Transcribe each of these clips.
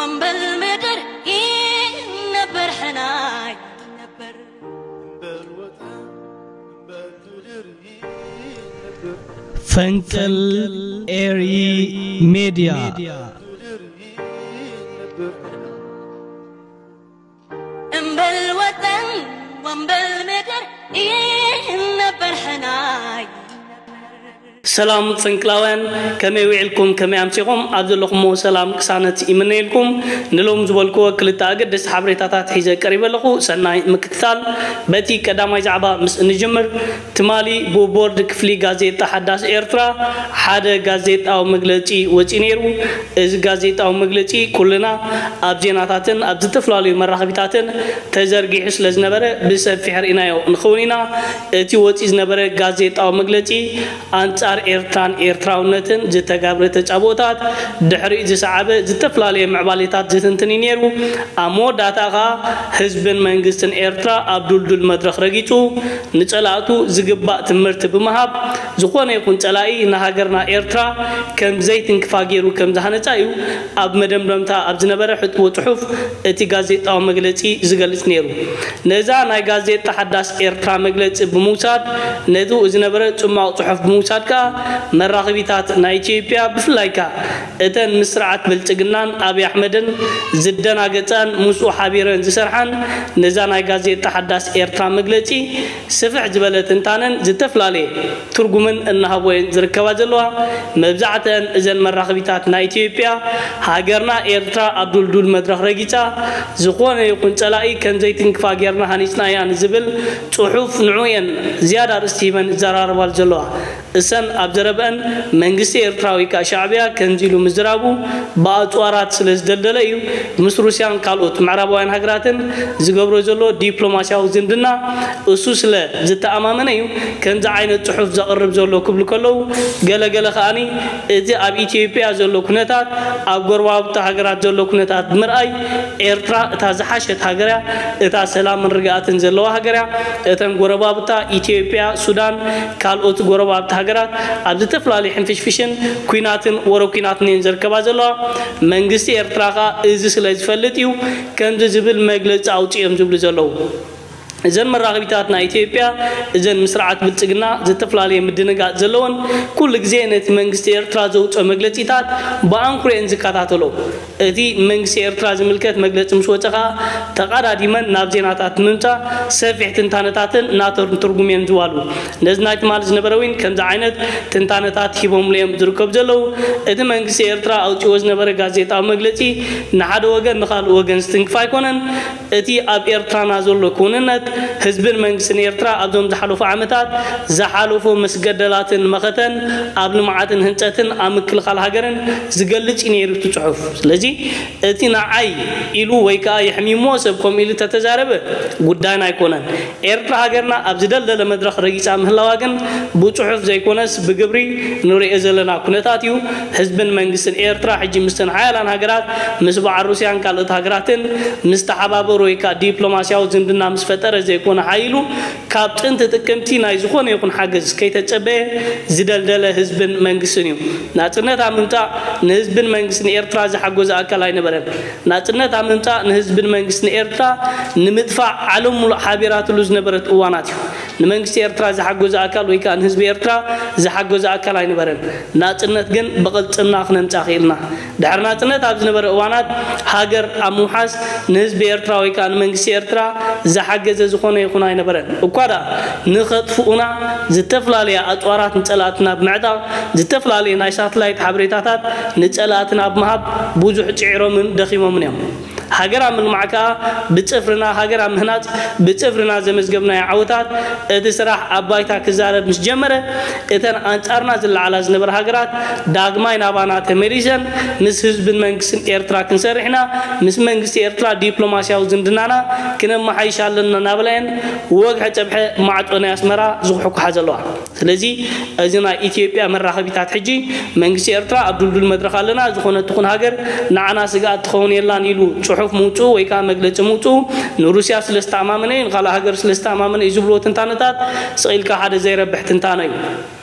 እምበል ምድር ይነበር ሕናይ ነበር። ፈንቅል ኤሪ ሜድያ። እምበል ወጠን ወእምበል ምድር ይነበር ሕናይ። ሰላም ፈንቅላውያን፣ ከመይ ውዒልኩም? ከመይ ኣምሲኹም? ኣብ ዘለኹሞ ሰላም ቅሳነት ይምነየልኩም። ንሎም ዝበልክዎ ክልተ ኣገደስቲ ሓበሬታታት ሒዘ ቀሪበ ኣለኹ። ሰናይ ምክትታል። በቲ ቀዳማይ ዛዕባ ምስ እንጅምር፣ ትማሊ ብቦርድ ክፍሊ ጋዜጣ ሓዳስ ኤርትራ ሓደ ጋዜጣዊ መግለጺ ወጺኡ ነይሩ። እዚ ጋዜጣዊ መግለጺ ኩልና ኣብ ዜናታትን ኣብ ዝተፈላለዩ መራኸቢታትን ተዘርጊሑ ስለ ዝነበረ ብሰፊሕ ርኢናዮ ንኸውን ኢና። እቲ ወጺኡ ዝነበረ ጋዜጣዊ መግለጺ ኣንጻር ኤርትራን ኤርትራውነትን ዝተጋብረ ተጻብኦታት ድሕሪኡ ዝሰዓበ ዝተፈላለየ ምዕባሌታት ዝትንትን እዩ ነይሩ። ኣብ መወዳእታ ኸኣ ህዝብን መንግስትን ኤርትራ ኣብ ዱልዱል መድረኽ ረጊጹ ንጸላእቱ ዝግባእ ትምህርቲ ብምሃብ ዝኾነ ይኹን ጸላኢ ንሃገርና ኤርትራ ከም ዘይትንክፋ ገይሩ ከም ዝሃነጻ እዩ ኣብ መደምደምታ ኣብ ዝነበረ ሕጥቦ ጽሑፍ እቲ ጋዜጣዊ መግለጺ ዝገልጽ ነይሩ። ነዛ ናይ ጋዜጣ ሓዳስ ኤርትራ መግለጺ ብምውሳድ ነቲ ዝነበረ ጽማቕ ጽሑፍ ብምውሳድ ከኣ መራኸቢታት ናይ ኢትዮጵያ ብፍላይ ከኣ እተን ምስ ስርዓት ብልጽግናን ኣብይ ኣሕመድን ዝደናገጻን ምስኡ ሓቢረን ዝሰርሓን ነዛ ናይ ጋዜጣ ሓዳስ ኤርትራ መግለጺ ስፍሕ ዝበለ ትንታነን ዝተፈላለየ ትርጉምን እናሃቦ እየን ዝርከባ ዘለዋ። መብዛዕተን እዘን መራኸቢታት ናይ ኢትዮጵያ ሃገርና ኤርትራ ኣብ ዱልዱል መድረኽ ረጊጻ ዝኾነ ይኹን ጸላኢ ከም ዘይትንክፋ ጌርና ሃኒጽናያ ንዝብል ጽሑፍ ንዑ እየን ዝያዳ ኣርእስቲ ሂበን ይዘራረባሉ ዘለዋ። እሰን ኣብ ዘረበአን መንግስቲ ኤርትራ ወይ ከዓ ሻዕብያ ከምዚ ኢሉ ምዝራቡ ብኣፅዋራት ስለ ዝደልደለ እዩ። ምስ ሩስያን ካልኦት ምዕራባውያን ሃገራትን ዝገብሮ ዘሎ ዲፕሎማስያዊ ዝምድና እሱ ስለ ዝተኣማመነ እዩ ከምዚ ዓይነት ፅሑፍ ዘቕርብ ዘሎ ክብሉ ከለዉ፣ ገለገለ ከኣኒ እቲ ኣብ ኢትዮጵያ ዘሎ ኩነታት ኣብ ጎረባብቲ ሃገራት ዘሎ ኩነታት ብምርኣይ ኤርትራ እታ ዝሓሸት ሃገር እያ፣ እታ ሰላምን ርግኣትን ዘለዋ ሃገር እያ። እተን ጎረባብታ ኢትዮጵያ፣ ሱዳን፣ ካልኦት ጎረባብቲ ሃገራት ኣብ ዝተፈላለዩ ሕንፍሽፍሽን ኲናትን ወረ ኲናትን እየን ዘርከባ ዘለዋ። መንግስቲ ኤርትራ ከኣ እዚ ስለ ዝፈልጥ እዩ ከምዚ ዝብል መግለፂ ኣውፂኦም ዝብሉ ዘለዉ። እዘን መራኸቢታት ናይ ኢትዮጵያ እዘን ምስ ስርዓት ብልፅግና ዝተፈላለየ ምድንጋፅ ዘለወን ኩሉ ግዜ ነቲ መንግስቲ ኤርትራ ዘውፅኦ መግለፂታት ብኣንኩሮ እየን ዝከታተሎ። እቲ ንመንግስቲ ኤርትራ ዝምልከት መግለፂ ምስ ወፀ ከኣ ተቓዳዲመን ናብ ዜናታት ንምምፃእ ሰፊሕ ትንታነታትን ናተን ትርጉም እየን ዝዋሉ። ነዚ ናይ ትማሊ ዝነበረ እውን ከምዚ ዓይነት ትንታነታት ሂቦምሉ እዮም ዝርከቡ ዘለዉ። እቲ መንግስቲ ኤርትራ ኣውፂዎ ዝነበረ ጋዜጣዊ መግለፂ ንሓደ ወገን ንኻልእ ወገን ዝትንክፍ ኣይኮነን። እቲ ኣብ ኤርትራና ዘሎ ክውንነት ህዝብን መንግስትን ኤርትራ ኣብዞም ዝሓለፉ ዓመታት ዝሓለፎ መስገደላትን መኸተን ኣብ ልምዓትን ህንፀትን ኣብ ምክልኻል ሃገርን ዝገልጽ እዩ ነይሩ እቲ ጽሑፍ። ስለዚ እቲ ንዓይ ኢሉ ወይ ከዓ የሕሚሞ ሰብ ከምኡ ኢሉ ተተዛረበ ጉዳይና ኣይኮነን። ኤርትራ ሃገርና ኣብ ዝደልደለ መድረኽ ረጊጻ ምህላዋ ግን ብጽሑፍ ዘይኮነስ ብግብሪ ንሪኦ ዘለና ኩነታት እዩ። ህዝብን መንግስትን ኤርትራ ሕጂ ምስተን ሓያላን ሃገራት ምስ በዓል ሩስያን ካልኦት ሃገራትን ምስ ተሓባበሩ ወይ ከዓ ዲፕሎማስያዊ ዝምድና ምስ ፈጠረ ዘይኮነ ሓይሉ ካብ ጥንቲ ጥቅምቲ ናይ ዝኾነ ይኹን ሓገዝ ከይተጸበየ ዝደልደለ ህዝብን መንግስትን እዩ። ናጽነት ኣብ ምምጻእ ንህዝብን መንግስትን ኤርትራ ዝሓገዘ ኣካል ኣይነበረን። ናጽነት ኣብ ምምጻእ ንህዝብን መንግስትን ኤርትራ ንምጥፋእ ዓለም ሙሉእ ሓቢራትሉ ዝነበረት እዋናት እዩ። ንመንግስቲ ኤርትራ ዝሓገዘ ኣካል ወይ ከዓ ንህዝቢ ኤርትራ ዝሓገዘ ኣካል ኣይነበረን። ናጽነት ግን ብቕልጽምና ክነምጻእ ክኢልና። ድሕሪ ናጽነት ኣብ ዝነበረ እዋናት ሃገር ኣብ ምውሓስ ንህዝቢ ኤርትራ ወይ ከዓ ንመንግስቲ ኤርትራ ዝሓገዘ ዝኾነ ይኹን ኣይነበረን። እኳ ደኣ ንኸጥፍኡና ዝተፈላለያ ኣፅዋራት ንጸላእትና ብምዕጣቕ፣ ዝተፈላለየ ናይ ሳትላይት ሓበሬታታት ንጸላእትና ብምሃብ ብዙሕ ጽዒሮምን ደኺሞምን እዮም። ሃገር ኣብ ምልማዕ ከኣ ብጽፍርና፣ ሃገር ኣብ ምህናጽ ብጽፍርና ዘመዝገብናዮ ዓወታት፣ እቲ ስራሕ ኣብ ባይታ ክዛረብ ምስ ጀመረ፣ እተን ኣንጻርና ዝለዓላ ዝነበራ ሃገራት ዳግማይ ናባና ተመሊሰን ምስ ህዝብን መንግስትን ኤርትራ ክንሰርሕ ኢና፣ ምስ መንግስቲ ኤርትራ ዲፕሎማስያዊ ዝምድናና ክነመሓይሽ ኣለና እናበላ እየን ወግሐ ጸብሐ ማዕጾ ናይ ኣስመራ ዝኹሕኩሓ ዘለዋ። ስለዚ እዚ ናይ ኢትዮጵያ መራኸቢታት ሕጂ መንግስቲ ኤርትራ ኣብ ድልዱል መድረኽ ኣለና፣ ዝኾነት ትኹን ሃገር ንዓና ስግኣት ትኸውን የላን ኢሉ ጽሑፍ ምውጽኡ ወይ ከዓ መግለጺ ምውጽኡ ንሩስያ ስለ ዝተኣማመነ እዩ፣ ንኻልእ ሃገር ስለ ዝተኣማመነ እዩ ዝብልዎ ትንታነታት ስቕ ኢልካ ሓደ ዘይረብሕ ትንታነ እዩ።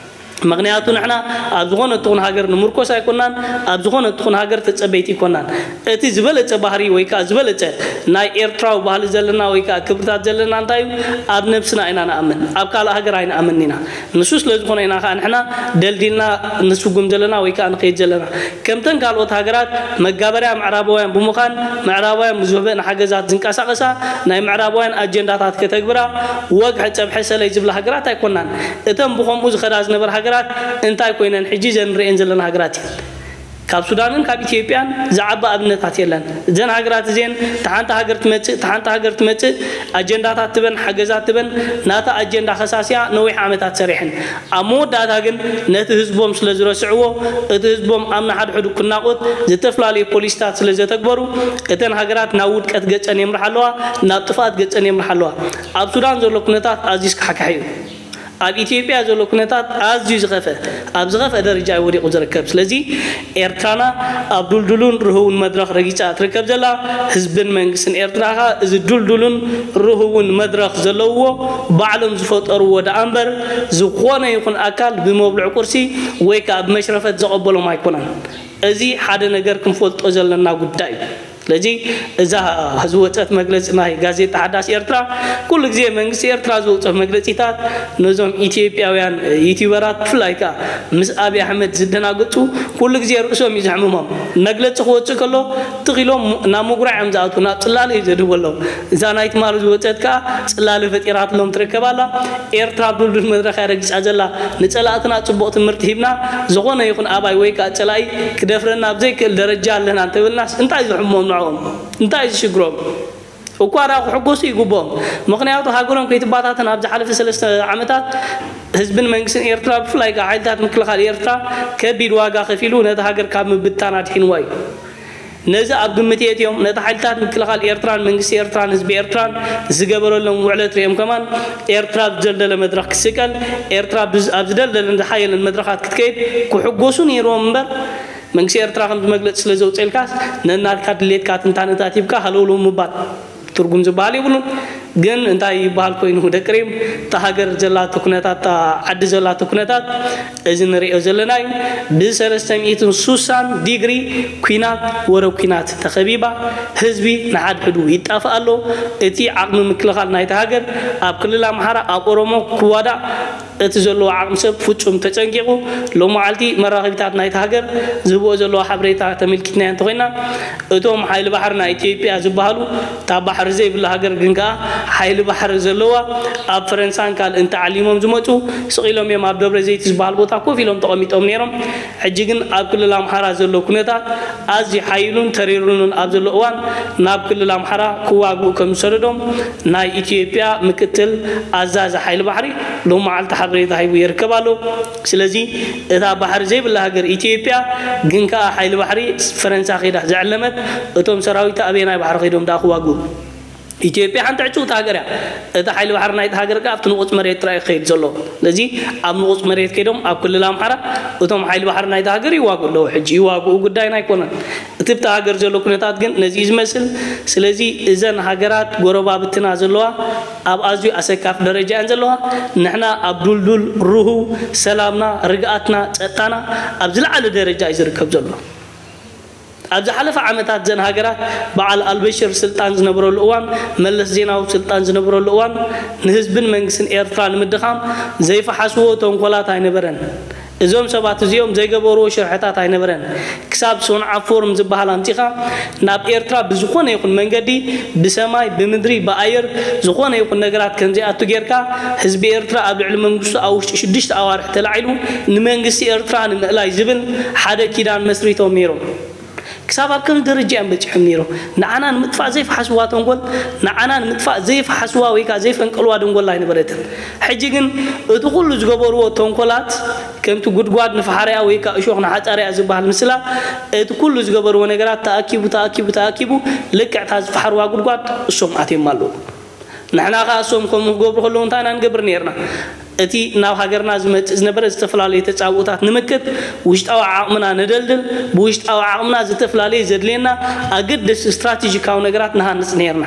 ምኽንያቱ ንሕና ኣብ ዝኾነ ትኹን ሃገር ንምርኮስ ኣይኮናን፣ ኣብ ዝኾነ ትኹን ሃገር ተጸበይቲ ኣይኮናን። እቲ ዝበለጸ ባህሪ ወይ ከዓ ዝበለጸ ናይ ኤርትራዊ ባህሊ ዘለና ወይ ከዓ ክብርታት ዘለና እንታይ እዩ? ኣብ ነብስና ኢና ንኣምን፣ ኣብ ካልእ ሃገር ኣይንኣምን ኢና። ንሱ ስለ ዝኾነ ኢና ከዓ ንሕና ደልዲልና ንስጉም ዘለና ወይ ከዓ ንኸይድ ዘለና። ከምተን ካልኦት ሃገራት መጋበርያ ምዕራባውያን ብምዃን፣ ምዕራባውያን ብዝህበን ሓገዛት ዝንቀሳቐሳ፣ ናይ ምዕራባውያን ኣጀንዳታት ከተግብራ፣ ወግሐ ጸብሐ ሰለይ ዝብላ ሃገራት ኣይኮናን። እተን ብኸምኡ ዝኸዳ ዝነበራ ሃገራት እንታይ ኮይነን ሕጂ እዘን ንርእየን ዘለና ሃገራት እየን። ካብ ሱዳንን ካብ ኢትዮጵያን ዝዓቢ ኣብነታት የለን። እዘን ሃገራት እዚአን ተሓንቲ ሃገር ትመጽእ፣ ተሓንቲ ሃገር ትመጽእ፣ ኣጀንዳታት ትበን፣ ሓገዛት ትበን፣ ናታ ኣጀንዳ ከሳሲያ ነዊሕ ዓመታት ሰሪሐን። ኣብ መወዳእታ ግን ነቲ ህዝቦም ስለ ዝረስዕዎ፣ እቲ ህዝቦም ኣብ ንሓድሕዱ ክናቖት ዝተፈላለዩ ፖሊሲታት ስለ ዘተግበሩ፣ እተን ሃገራት ናብ ውድቀት ገጸን የምርሓ ኣለዋ፣ ናብ ጥፍኣት ገጸን የምርሓ ኣለዋ። ኣብ ሱዳን ዘሎ ኩነታት ኣዝዩ ስካሕካሒ እዩ። ኣብ ኢትዮጵያ ዘሎ ኩነታት ኣዝዩ ዝኸፈ፣ ኣብ ዝኸፈ ደረጃ እዩ ወዲቑ ዝርከብ። ስለዚ ኤርትራና ኣብ ዱልዱሉን ርህውን መድረኽ ረጊጻ ትርከብ ዘላ፣ ህዝብን መንግስትን ኤርትራ ኸኣ እዚ ዱልዱሉን ርህውን መድረኽ ዘለውዎ ባዕሎም ዝፈጠርዎ ደኣ እምበር፣ ዝኾነ ይኹን ኣካል ብመብልዕ ቁርሲ ወይ ከኣ ብመሽረፈት ዘቐበሎም ኣይኮነን። እዚ ሓደ ነገር ክንፈልጦ ዘለና ጉዳይ እዩ። ስለዚ እዛ ዝወፀት መግለፂ ናይ ጋዜጣ ሓዳስ ኤርትራ፣ ኩሉ ግዜ መንግስቲ ኤርትራ ዝወፅኦ መግለፂታት ነዞም ኢትዮጵያውያን ዩቲዩበራት ብፍላይ ከዓ ምስ ኣብይ ኣሕመድ ዝደናገፁ ኩሉ ግዜ ርእሶም እዩ ዘሕምሞም። መግለፂ ክወፅእ ከሎ ትኽ ኢሎም ናብ ምጉራዕ እዮም ዝኣትዉ፣ ናብ ፅላለ እዩ ዘድህቡ ኣለዉ። እዛ ናይ ትማሊ ዝወፀት ከዓ ፅላለ ፈጢራትሎም ትርከብ ኣላ። ኤርትራ ኣብ ድልዱል መድረኽ እያ ረጊፃ ዘላ። ንፀላእትና ፅቡቕ ትምህርቲ ሂብና፣ ዝኾነ ይኹን ኣባይ ወይ ከዓ ፀላኢ ክደፍረና ኣብ ዘይክእል ደረጃ ኣለና እንተብልናስ እንታይ ዝሕሞም ንዕኦም? እንታይ ዝሽግሮም? እኳ ደኣ ክሕጎሱ ይግብኦም። ምኽንያቱ ሃገሮም ከይትባታተን ኣብ ዝሓለፈ ሰለስተ ዓመታት ህዝብን መንግስትን ኤርትራ ብፍላይ ከዓ ሓይልታት ምክልኻል ኤርትራ ከቢድ ዋጋ ከፊሉ ነቲ ሃገር ካብ ምብታን ኣድሒንዋ እዩ። ነዚ ኣብ ግምት የእትዮም ነቲ ሓይልታት ምክልኻል ኤርትራን መንግስቲ ኤርትራን ህዝቢ ኤርትራን ዝገበረሎም ውዕለት ሪኦም ከማን ኤርትራ ኣብ ዝደልደለ መድረኽ ክትስቀል፣ ኤርትራ ብዝ-፣ ኣብ ዝደልደለን ዝሓየለን መድረኻት ክትከይድ ክሕጎሱ ነይርዎም እምበር መንግስቲ ኤርትራ ከምዚ መግለፂ ስለ ዘውፅኤልካስ ነናትካ ድሌትካ ትንታነታት ሂብካ ሃለውለው ምባል ትርጉም ዝበሃል የብሉን። ግን እንታይ ይበሃል ኮይኑ ደቂ ሪም እታ ሃገር ዘላቶ ኩነታት፣ እታ ዓዲ ዘላቶ ኩነታት እዚ ንሪኦ ዘለና እዩ። ብሰለስተ ሚእትን ሱሳን ዲግሪ ኲናት፣ ወረ ኲናት ተኸቢባ፣ ህዝቢ ንሓድሕዱ ይጣፍእ ኣሎ። እቲ ዓቕሚ ምክልኻል ናይታ ሃገር ኣብ ክልል ኣምሓራ፣ ኣብ ኦሮሞ ክዋዳእ እቲ ዘለዎ ዓቕሚ ሰብ ፍጹም ተጨንቂቑ። ሎሚ መዓልቲ መራኸቢታት ናይታ ሃገር ዝህብኦ ዘለዋ ሓበሬታ ተመልኪትናዮ እንተኾይና፣ እቶም ሓይሊ ባሕሪ ናይ ኢትዮጵያ ዝበሃሉ፣ እታ ባሕሪ ዘይብላ ሃገር ግን ከኣ ሓይሊ ባሕሪ ዘለዋ፣ ኣብ ፈረንሳን ካልእን ተዓሊሞም ዝመጹ፣ ስቕ ኢሎም እዮም ኣብ ደብረ ዘይት ዝበሃል ቦታ ኮፍ ኢሎም ተቐሚጦም ነይሮም። ሕጂ ግን ኣብ ክልል ኣምሓራ ዘሎ ኩነታት ኣዝዩ ሓይሉን ተሪሩንን ኣብ ዘሎ እዋን፣ ናብ ክልል ኣምሓራ ክዋግኡ ከም ዝሰደዶም ናይ ኢትዮጵያ ምክትል ኣዛዚ ሓይሊ ባሕሪ ሎም መዓልቲ ሓበሬታ ሂቡ ይርከብ ኣሎ። ስለዚ እታ ባሕሪ ዘይብላ ሃገር ኢትዮጵያ ግን ከኣ ሓይሊ ባሕሪ ፈረንሳ ከይዳ ዘዕለመት፣ እቶም ሰራዊት ኣበየናይ ባሕሪ ከይዶም ደኣ ክዋግኡ? ኢትዮጵያ ሓንቲ ዕጭውቲ ሃገር እያ። እቲ ሓይሊ ባሕሪ ናይቲ ሃገር ከኣ ኣብቲ ንቑጽ መሬት ጥራይ እዩ ክኸይድ ዘሎ። ስለዚ ኣብ ንቑጽ መሬት ከይዶም ኣብ ክልል ኣምሓራ እቶም ሓይሊ ባሕሪ ናይቲ ሃገር ይዋግኡ ኣለዉ። ሕጂ ይዋግኡ ጉዳይና ኣይኮነን። እቲ ብቲ ሃገር ዘሎ ኩነታት ግን ነዚ እዩ ዝመስል። ስለዚ እዘን ሃገራት ጎረባብትና ዘለዋ ኣብ ኣዝዩ ኣሰካፊ ደረጃ እየን ዘለዋ። ንሕና ኣብ ዱልዱል ርሁው ሰላምና፣ ርግኣትና፣ ጸጥታና ኣብ ዝለዓለ ደረጃ እዩ ዝርከብ ዘሎ። ኣብ ዝሓለፈ ዓመታት እዘን ሃገራት በዓል ኣልበሽር ስልጣን ዝነበረሉ እዋን፣ መለስ ዜናዊ ስልጣን ዝነበረሉ እዋን ንህዝብን መንግስትን ኤርትራ ንምድኻም ዘይፈሓስዎ ተንኮላት ኣይነበረን። እዞም ሰባት እዚኦም ዘይገበርዎ ሽርሕታት ኣይነበረን። ክሳብ ሶንዓ ፎርም ዝበሃል ኣምጺኻ ናብ ኤርትራ ብዝኾነ ይኹን መንገዲ፣ ብሰማይ፣ ብምድሪ፣ ብኣየር፣ ዝኾነ ይኹን ነገራት ከም ዘይኣቱ ጌርካ፣ ህዝቢ ኤርትራ ኣብ ልዕሊ መንግስቱ ኣብ ውሽጢ ሽዱሽተ ኣዋርሕ ተላዒሉ ንመንግስቲ ኤርትራ ንምእላይ ዝብል ሓደ ኪዳን መስሪቶም ነይሮም። ክሳብ ኣብ ከምዚ ደረጃ እዮም በጺሖም ነይሮም። ንዓና ንምጥፋእ ዘይፈሓስዋ ተንኮል፣ ንዓና ንምጥፋእ ዘይፈሓስዋ ወይ ከዓ ዘይፈንቀልዋ ደንጎላ ኣይነበረትን። ሕጂ ግን እቲ ኩሉ ዝገበርዎ ተንኮላት ከምቲ ጉድጓድ ንፈሓርያ ወይ ከዓ እሾኽ ንሓጻርያ ዝበሃል ምስላ፣ እቲ ኩሉ ዝገበርዎ ነገራት ተኣኪቡ፣ ተኣኪቡ፣ ተኣኪቡ ልክዕ እታ ዝፈሓርዋ ጉድጓድ እሶም ኣትዮም ኣለዉ። ንሕና ከኣ እሶም ከምኡ ክገብሩ ከለዉ እንታይ ኢና ንገብር ነይርና? እቲ ናብ ሃገርና ዝመጽእ ዝነበረ ዝተፈላለዩ ተጻብኦታት ንምክት ውሽጣዊ ዓቕምና ነደልድል፣ ብውሽጣዊ ዓቕምና ዝተፈላለየ ዘድልየና ኣገደስቲ ስትራቴጂካዊ ነገራት ንሃንጽ ነይርና።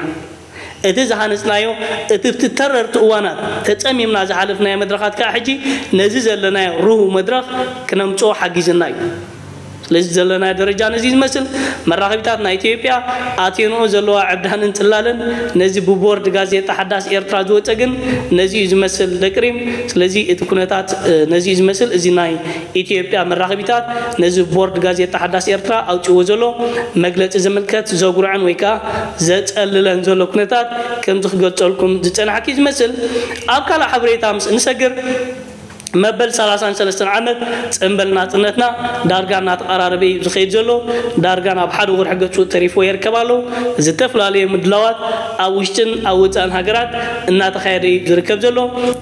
እቲ ዝሃነፅናዮ፣ እቲ ኣብቲ ተረርቲ እዋናት ተፀሚምና ዝሓለፍናዮ መድረኻት ከዓ ሕጂ ነዚ ዘለናዮ ርሁው መድረኽ ክነምፅኦ ሓጊዝና እዩ። ስለዚ ዘለናዮ ደረጃ ነዚ ዝመስል። መራኸቢታት ናይ ኢትዮጵያ ኣትየንኦ ዘለዋ ዕብዳንን ፅላለን ነዚ ብቦርድ ጋዜጣ ሓዳስ ኤርትራ ዝወፀ ግን ነዚ እዩ ዝመስል ደቅሪም። ስለዚ እቲ ኩነታት ነዚ እዩ ዝመስል። እዚ ናይ ኢትዮጵያ መራኸቢታት ነዚ ቦርድ ጋዜጣ ሓዳስ ኤርትራ ኣውፅዎ ዘሎ መግለፂ ዝምልከት ዘጉርዐን ወይ ከዓ ዘፀልለን ዘሎ ኩነታት ከምዚ ክገልፀልኩም ዝፀናሕኪ ዝመስል። ኣብ ካልእ ሓበሬታ ምስ እንሰግር፣ መበል ሰላሳን ሰለስተን ዓመት ፅምብል ናፅነትና ዳርጋ እናተቐራረበ እዩ ዝኸይድ ዘሎ። ዳርጋ ናብ ሓደ ወርሒ ገፁ ተሪፎ ይርከብ ኣሎ። ዝተፈላለዩ ምድላዋት ኣብ ውሽጥን ኣብ ወፃእን ሃገራት እናተኻየደ እዩ ዝርከብ ዘሎ።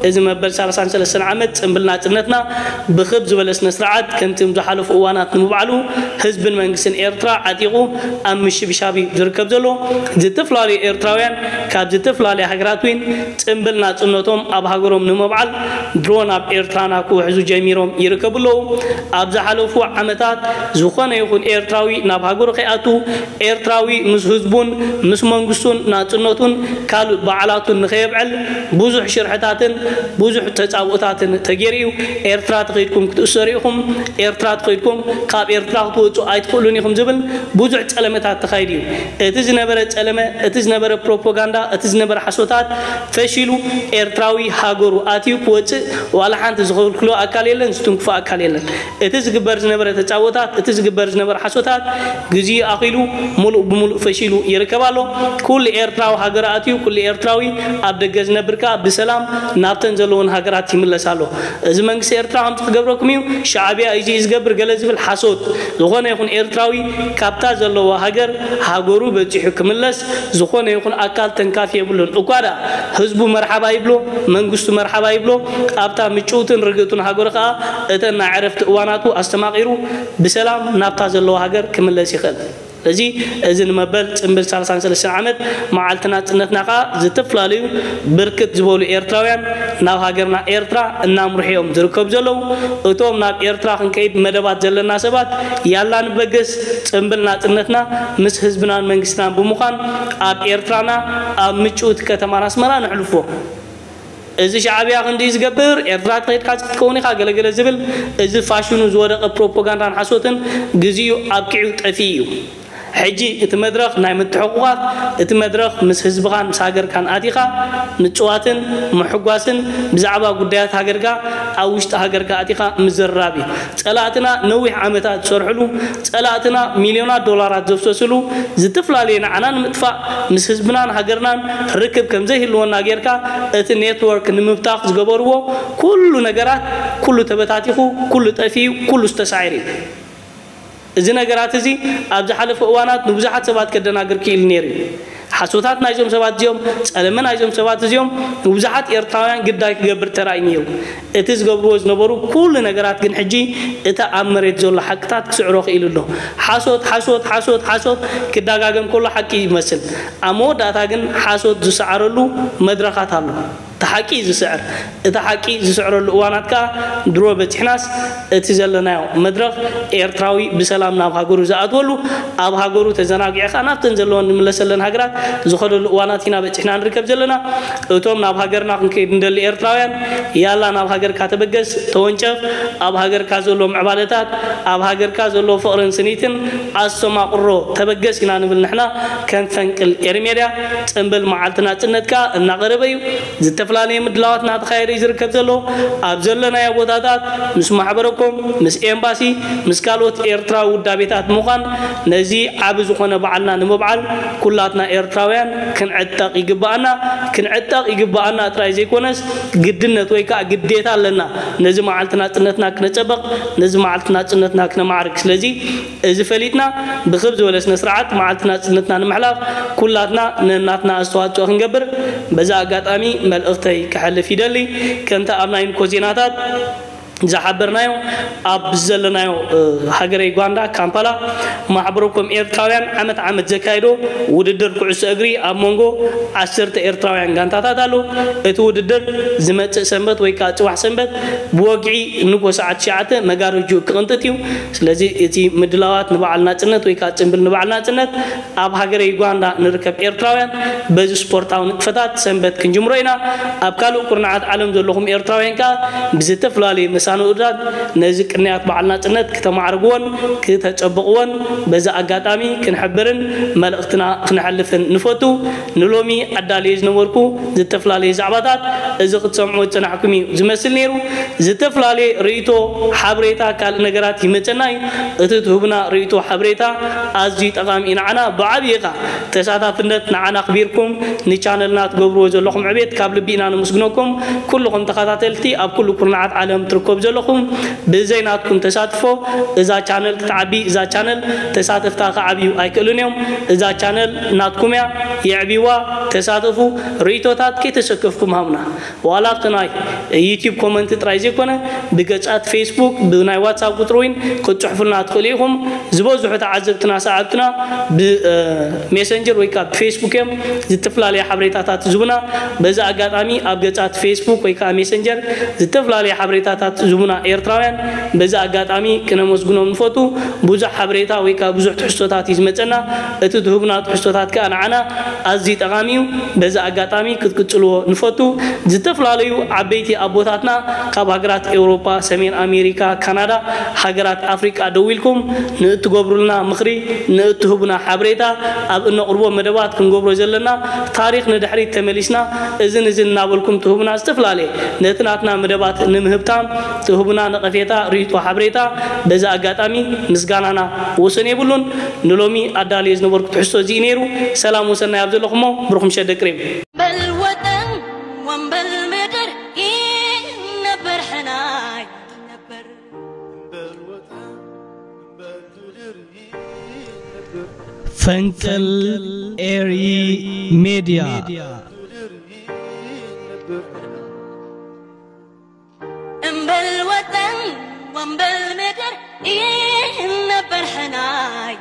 እዚ መበል ሰላሳን ሰለስተን ዓመት ፅምብል ናፅነትና ብኽብ ዝበለ ስነ ስርዓት ከምቲ ዝሓለፉ እዋናት ንምብዓሉ ህዝብን መንግስትን ኤርትራ ዓጢቑ ኣብ ምሽብሻብ እዩ ዝርከብ ዘሎ። ዝተፈላለዩ ኤርትራውያን ካብ ዝተፈላለዩ ሃገራት እውን ፅምብል ናፅነቶም ኣብ ሃገሮም ንምብዓል ድሮን ኣብ ኤርትራና ክውሕዙ ጀሚሮም ይርከቡ ኣለዉ። ኣብ ዝሓለፉ ዓመታት ዝኾነ ይኹን ኤርትራዊ ናብ ሃገሩ ከይኣቱ፣ ኤርትራዊ ምስ ህዝቡን ምስ መንግስቱን ናፅነቱን ካልእ በዓላቱን ንኸየብዕል ብዙሕ ሽርሕታትን ብዙሕ ተፃብኦታትን ተገይሩ እዩ። ኤርትራ ተኸይድኩም ክትእሰሩ ኢኹም፣ ኤርትራ ተኸይድኩም ካብ ኤርትራ ክትወፁ ኣይትኽእሉን ኢኹም ዝብል ብዙሕ ፀለመታት ተኻይዱ እዩ። እቲ ዝነበረ ፀለመ፣ እቲ ዝነበረ ፕሮፓጋንዳ፣ እቲ ዝነበረ ሓሶታት ፈሺሉ ኤርትራዊ ሃገሩ ኣትዩ ክወፅእ ዋላ ሓንቲ ዝኽልክሎ ኣካል የለን፣ ዝትንክፎ ኣካል የለን። እቲ ዝግበር ዝነበረ ተፃቦታት፣ እቲ ዝግበር ዝነበረ ሓሶታት ግዜኡ ኣኺሉ ሙሉእ ብሙሉእ ፈሺሉ ይርከብ ኣሎ። ኩሉ ኤርትራዊ ሃገር ኣትዩ፣ ኩሉ ኤርትራዊ ኣብ ደገ ዝነብር ከኣ ብሰላም ናብተን ዘለውን ሃገራት ይምለስ ኣሎ። እዚ መንግስቲ ኤርትራ ከምዚ ክገብረኩም እዩ፣ ሻዕብያ እዩ ዝገብር ገለ ዝብል ሓሶት። ዝኾነ ይኹን ኤርትራዊ ካብታ ዘለዎ ሃገር ሃገሩ በጺሑ ክምለስ ዝኾነ ይኹን ኣካል ተንካፊ የብሉን። እኳ ደኣ ህዝቡ መርሓባ ይብሎ፣ መንግስቱ መርሓባ ይብሎ፣ ኣብታ ምጭውትን ርግእቱን ሃገሩ ከኣ እተን ናይ ዕረፍቲ እዋናቱ ኣስተማቒሩ ብሰላም ናብታ ዘለዎ ሃገር ክምለስ ይኽእል። እዚ እዚ ንመበል ጽምብል ሰላሳን ሰለስተን ዓመት መዓልቲ ናጽነትና ከኣ ዝተፈላለዩ ብርክት ዝበሉ ኤርትራውያን ናብ ሃገርና ኤርትራ እናምርሑ እዮም ዝርከቡ ዘለዉ። እቶም ናብ ኤርትራ ክንከይድ መደባት ዘለና ሰባት ያላ ንበገስ ጽምብል ናጽነትና ምስ ህዝብናን መንግስትናን ብምዃን ኣብ ኤርትራና ኣብ ምጭውቲ ከተማና ኣስመራ ነሕልፎ። እዚ ሻዕብያ ክንዲ ዝገብር ኤርትራ ተኸይድካ ክትከውን ኢኻ ገለገለ ዝብል እዚ ፋሽኑ ዝወደቐ ፕሮፓጋንዳን ሓሶትን ግዜኡ ኣብቂዑ ጠፊኡ እዩ። ሕጂ እቲ መድረኽ ናይ ምትሕቑቓፍ፣ እቲ መድረኽ ምስ ህዝብኻን ምስ ሃገርካን ኣቲኻ ምጽዋትን ምሕጓስን ብዛዕባ ጉዳያት ሃገርካ ኣብ ውሽጢ ሃገርካ ኣቲኻ ምዝርራብ እዩ። ጸላእትና ነዊሕ ዓመታት ዝሰርሕሉ፣ ጸላእትና ሚልዮናት ዶላራት ዘፍሰስሉ፣ ዝተፈላለዩ ንዓና ንምጥፋእ ምስ ህዝብናን ሃገርናን ርክብ ከም ዘይህልወና ጌርካ እቲ ኔትወርክ ንምብታኽ ዝገበርዎ ኩሉ ነገራት ኩሉ ተበታቲኹ፣ ኩሉ ጠፊኡ፣ ኩሉ ዝተሳዒሩ እዩ። እዚ ነገራት እዚ ኣብ ዝሓለፈ እዋናት ንብዙሓት ሰባት ከደናግር ክኢሉ ነይሩ እዩ። ሓሶታት ናይዞም ሰባት እዚኦም፣ ጸለመ ናይዞም ሰባት እዚኦም ንብዙሓት ኤርትራውያን ግዳይ ክገብር ተራእዩ ነይሩ። እቲ ዝገብርዎ ዝነበሩ ኩሉ ነገራት ግን ሕጂ እቲ ኣብ መሬት ዘሎ ሓቅታት ክስዕሮ ክኢሉ ኣሎ። ሓሶት፣ ሓሶት፣ ሓሶት፣ ሓሶት ክደጋገም ከሎ ሓቂ ይመስል። ኣብ መወዳእታ ግን ሓሶት ዝሰዓረሉ መድረኻት ኣሎ። እቲ ሓቂ እዩ ዝስዕር። እቲ ሓቂ ዝስዕረሉ እዋናት ከኣ ድሮ በጺሕናስ እቲ ዘለናዮ መድረኽ ኤርትራዊ ብሰላም ናብ ሃገሩ ዝኣትወሉ፣ ኣብ ሃገሩ ተዘናጊዑ ከኣ ናብተን ዘለወን ዝምለሰለን ሃገራት ዝኸደሉ እዋናት ኢና በጺሕና ንርከብ ዘለና። እቶም ናብ ሃገርና ክንከይድ እንደሊ ኤርትራውያን፣ ያላ ናብ ሃገርካ ተበገስ፣ ተወንጨፍ፣ ኣብ ሃገርካ ዘሎ ምዕባለታት፣ ኣብ ሃገርካ ዘሎ ፍቕርን ስኒትን ኣስተማቕሮ ተበገስ ኢና ንብል ንሕና ከም ፈንቅል ኤሪ ሜድያ። ጽምብል መዓልቲ ናጽነት ከኣ እናቐረበ እዩ። ዝተፈላለየ ምድላዋት እናተኻየደ እዩ ዝርከብ ዘሎ። ኣብ ዘለናዮ ቦታታት ምስ ማሕበረኮም፣ ምስ ኤምባሲ፣ ምስ ካልኦት ኤርትራዊ ውዳቤታት ምዃን ነዚ ዓቢ ዝኾነ በዓልና ንምብዓል ኩላትና ኤርትራውያን ክንዕጠቕ ይግብኣና። ክንዕጠቕ ይግብኣና ጥራይ ዘይኮነስ ግድነት ወይ ከኣ ግዴታ ኣለና። ነዚ መዓልቲ ናጽነትና ክነጸብቕ፣ ነዚ መዓልቲ ናጽነትና ክነማዕርግ። ስለዚ እዚ ፈሊጥና ብኽብ ዝበለ ስነ ስርዓት መዓልቲ ናጽነትና ንምሕላፍ ኩላትና ነናትና ኣስተዋጽኦ ክንገብር በዚ ኣጋጣሚ መልእኽተይ ከሕልፍ ይደሊ። ከምቲ ኣብ ናይ ንኮ ዜናታት ዝሓበርናዮ ኣብ ዘለናዮ ሃገረ ዩጋንዳ ካምፓላ ማሕበረኮም ኤርትራውያን ዓመት ዓመት ዘካይዶ ውድድር ኩዕሶ እግሪ ኣብ መንጎ ዓሰርተ ኤርትራውያን ጋንታታት ኣሎ። እቲ ውድድር ዝመጽእ ሰንበት ወይ ከዓ ጽባሕ ሰንበት ብወግዒ ንጎ ሰዓት ትሽዓተ መጋረጅኡ ክቕንጥጥ እዩ። ስለዚ እቲ ምድላዋት ንበዓል ናጽነት ወይ ከዓ ጽምብል ንበዓል ናጽነት ኣብ ሃገረ ዩጋንዳ ንርከብ ኤርትራውያን በዚ ስፖርታዊ ንጥፈታት ሰንበት ክንጅምሮ ኢና። ኣብ ካልእ ኩርናዓት ዓለም ዘለኹም ኤርትራውያን ከዓ ብዝተፈላለየ መሳንኡታት ነዚ ቅንያት በዓል ናጽነት ክተማዕርግዎን ክተጸብቕዎን በዚ ኣጋጣሚ ክንሕብርን መልእኽትና ክነሕልፍን ንፈቱ። ንሎሚ ኣዳልየ ዝነበርኩ ዝተፈላለየ ዛዕባታት እዚ ክትሰምዑ ዝጸናሕኩም እዩ ዝመስል ነይሩ። ዝተፈላለየ ርእይቶ፣ ሓበሬታ፣ ካልእ ነገራት ይመጸና እዩ። እቲ ትህቡና ርእይቶ፣ ሓበሬታ ኣዝዩ ጠቓሚ እዩ ንዓና። ብዓብዪ ኸኣ ተሳታፍነት ንዓና ኣኽቢርኩም ንቻነልና ትገብርዎ ዘለኹም ዕቤት ካብ ልቢ ኢና ነመስግነኩም። ኩልኹም ተኸታተልቲ ኣብ ኩሉ ኩርናዓት ዓለም ትርከቡ ዘለኹም ብዘይ ናትኩም ተሳትፎ እዛ ቻነል ክትዓቢ፣ እዛ ቻነል ተሳተፍታ ክዓብዩ ኣይክእሉን እዮም። እዛ ቻነል ናትኩም እያ፣ የዕብይዋ፣ ተሳተፉ። ርእይቶታት ከይተሰከፍኩም ሃቡና። ዋላ ኣብቲ ናይ ዩቲዩብ ኮመንት ጥራይ ዘይኮነ ብገጻት ፌስቡክ ብናይ ዋትሳፕ ቁጽሪ እውን ክትጽሕፉልና ትኽእሉ ኢኹም። ዝበዝሑ ተዓዘብትና ሰዓብትና ብሜሰንጀር ወይ ከዓ ብፌስቡክ እዮም ዝተፈላለየ ሓበሬታታት ዝቡና። በዚ ኣጋጣሚ ኣብ ገጻት ፌስቡክ ወይ ከዓ ሜሰንጀር ዝተፈላለየ ሓበሬታታት ዝቡና ኤርትራውያን በዚ ኣጋጣሚ ክነመስግኖም ንፈቱ። ብዙሕ ሓበሬታ ወይ ከዓ ብዙሕ ትሕዝቶታት እዩ ዝመጸና። እቲ ትህቡና ትሕዝቶታት ከዓ ንዓና ኣዝዩ ጠቓሚ እዩ። በዚ ኣጋጣሚ ክትቅጽልዎ ንፈቱ። ዝተፈላለዩ ዓበይቲ ኣቦታትና ካብ ሃገራት ኤውሮጳ፣ ሰሜን ኣሜሪካ፣ ካናዳ፣ ሃገራት ኣፍሪቃ ደዊልኩም ንእትገብሩልና ምኽሪ፣ ንእትህቡና ሓበሬታ፣ ኣብ እነቕርቦ መደባት ክንገብሮ ዘለና ታሪኽ ንድሕሪት ተመሊስና እዝን እዝን እናበልኩም ትህቡና ዝተፈላለየ ነቲ ናትና መደባት ንምህብታም ትህቡና ነቐፌታ፣ ርእይቶ፣ ሓበሬታ በዚ ኣጋጣሚ ምስጋናና ወሰን የብሉን። ንሎሚ ኣዳልየ ዝነበርኩ ትሕዝቶ እዚ እዩ ነይሩ። ሰላም ወሰናይ ኣብ ዘለኹሞ ብሩኽ ምሸት ደቂ ሪም። በል ወጠን ወንበል ምድር ይነበር ሕናይ ይነበር። ፈንቅል ኤሪ ሜድያ። እምበል ወጠን ወንበል ምድር ይነበር ሕናይ